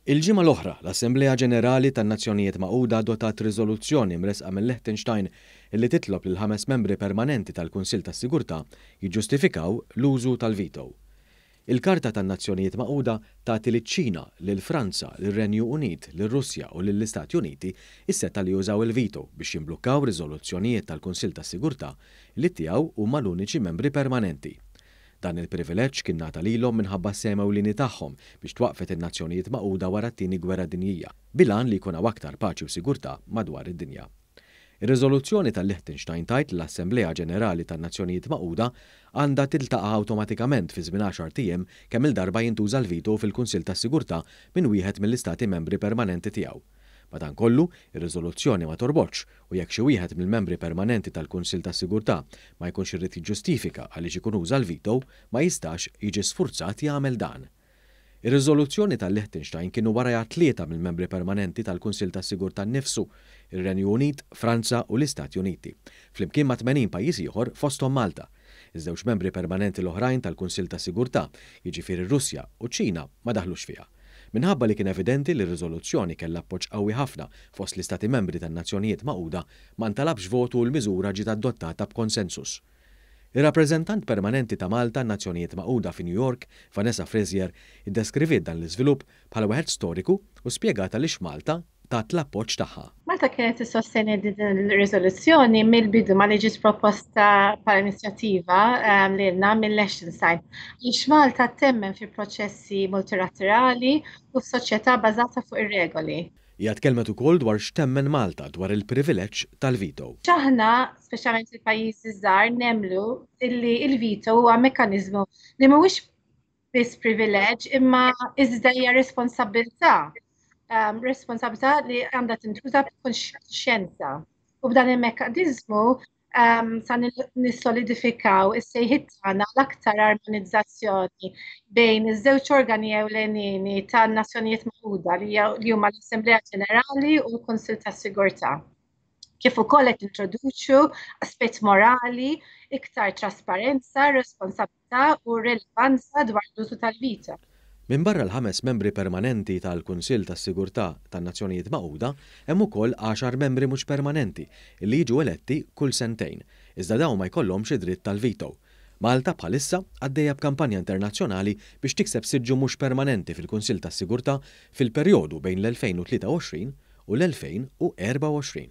Il-ġimgħa l-oħra, l-Assemblea Ġenerali tan-Nazzjonijiet Magħquda adottat riżoluzzjoni mressqa mil-Liechtenstein li titlob lill-ħames membri permanenti tal-Kunsill tas-Sigurtà jiġġustifikaw l-użu tal-veto. Il-Karta tan-Nazzjonijiet Magħquda tagħti liċ-Ċina, lil Franza, lir-Renju Unit, lir-Russja u lill-Istati Uniti s-setgħa li jużaw il-veto biex jimblukkaw riżoluzzjonijiet tal-Kunsill tas-Sigurtà li tiegħu huma l-uniċi membri permanenti. Dan il-privileġġ kien ngħata lilhom minħabba s-sehem ewlieni tagħhom biex twaqqfet in-Nazzjonijiet Magħquda wara t-Tieni Gwerra Dinjija, bil-għan li jkun hawn aktar paċi u sigurtà madwar id-dinja. Ir-riżoluzzjoni tal-Liechtenstein tgħid li l-Assemblea Ġenerali tan-Nazzjonijiet Magħquda għandha tiltaqa' awtomatikament fi żmien għaxart ijiem kemm-il darba jintuża l-veto fil-Kunsill tas-Sigurtà minn wieħed mill-Istati Membri permanenti tiegħu. Madankollu, ir-riżoluzzjoni ma torbotx u jekk xi wieħed mill-membri permanenti tal-Kunsill tas-Sigurtà ma jkunx irid jiġġustifika għaliex ikun uża l-veto, ma jistax jiġi sfurzat jagħmel dan. Ir-riżoluzzjoni tal-Liechtenstein kienu warajha tlieta mill-membri permanenti tal-Kunsill tas-Sigurtà nnifsu, ir-Renju Unit, Franza u l-Istati Uniti, flimkien ma' 80 pajjiż ieħor fosthom Malta. Iż-żewġ membri permanenti l-oħrajn tal-Kunsill tas-Sigurtà, jiġifieri r-Russja u ċ-Ċina, ma daħlux fiha. Minħabba li kien evidenti li r-riżoluzzjoni kellha appoġġ qawwi ħafna fost l-Istati Membri tan-Nazzjonijiet Magħquda, ma ntalabx votu u l-miżura ġiet adottata b'konsensus. Ir-Rappreżentant Permanenti ta' Malta għan-Nazzjonijiet Magħquda fi New York, Vanessa Frazier, iddeskriviet dan l-iżvilupp bħala wieħed storiku u spjegat għaliex Malta tat l-appoġġ tagħha. Malta kienet tissosteni din ir-riżoluzzjoni mill-bidu ma li ġiet proposta bħala inizjattiva ehm, lilna mill-Liechtenstein. Għaliex Malta temmen fi proċessi multilaterali u f'soċjetà bażata fuq ir-regoli. Hija tkellmet ukoll dwar x'temmen Malta dwar il-privileġġ tal-veto. Aħna, speċjalment il-pajjiżi żgħar, nemmnu illi il-veto huwa mekkaniżmu li mhuwiex biss privileġġ imma iżda hija responsabilità. Um, responsabilità li għandha tintuża b'kuxjenza. U b'dan il-mekkaniżmu um, sa nissolidifikaw is-sejħiet tagħna l-aktar armonizzazzjoni bejn iż-żewġ organi ewlenin tan-Nazzjonijiet Magħquda li huma l-Assemblea Ġenerali u l-Kunsill tas-Sigurtà. Kif ukoll qed introduċu aspett morali, iktar trasparenza, responsabilità u rilevanza dwar l-użu tal-veto. Minbarra l-ħames membri permanenti tal-Kunsill tas-Sigurtà tan-Nazzjonijiet Magħquda, hemm ukoll għaxar membri mhux permanenti li jiġu eletti kull sentejn, iżda dawn ma jkollhomx id-dritt tal-veto. Malta bħalissa għaddejja b'kampanja internazzjonali biex tikseb siġġu mhux permanenti fil-Kunsill tas-Sigurtà fil-perjodu bejn l-2023 u l-2024.